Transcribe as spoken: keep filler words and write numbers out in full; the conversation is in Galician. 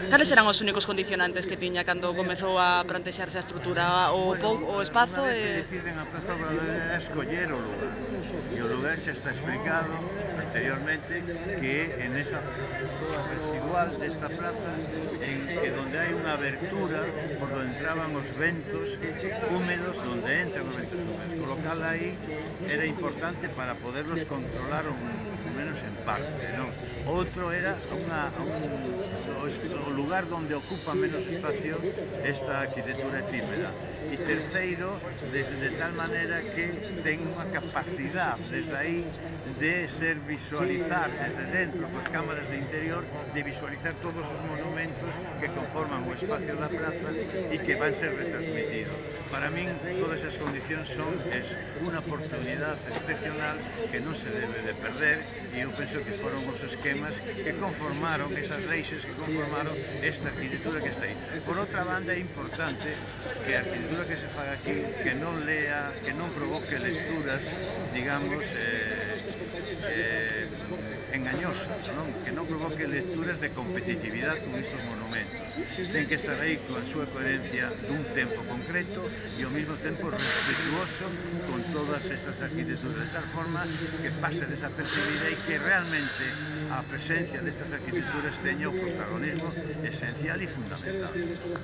Cales eran os únicos condicionantes que tiña cando comezou a plantexarse a estrutura? O Bueno, pouco, o espazo unha vez que e... deciden a Praza Obradoiro era escoller o lugar, e o lugar xa está explicado anteriormente que en esa toda residual desta plaza, en que donde hai unha abertura por donde entraban os ventos húmedos, donde entran os ventos húmedos, colocala aí era importante para poderlos controlar un, un menos en parte, non? Outro era unha, un, o lugar donde ocupa menos espacio esta arquitectura efímera. E terceiro, de, de tal manera que ten unha capacidade desde aí de ser visualizar desde dentro, coas cámaras de interior, de visualizar todos os monumentos que conforman o espacio da plaza e que van ser retransmitidos. Para min, todas as condicións son es unha oportunidade excepcional que non se debe de perder, e eu penso que foron os esquemas que conformaron, esas reixes que conformaron esta arquitectura que está aí. Por outra banda, é importante que a arquitectura que se faga aquí, que non lea, que non provoque lecturas, digamos, eh, eh, engañosas, non? Que non provoque lecturas de competitividade con estes monumentos. Ten que estar aí coa súa coherencia dun tempo concreto e ao mesmo tempo respetuoso con todas estas arquitecturas, de tal forma que pase desapercibida e que realmente a presencia destas arquitecturas teña o protagonismo esencial e fundamental.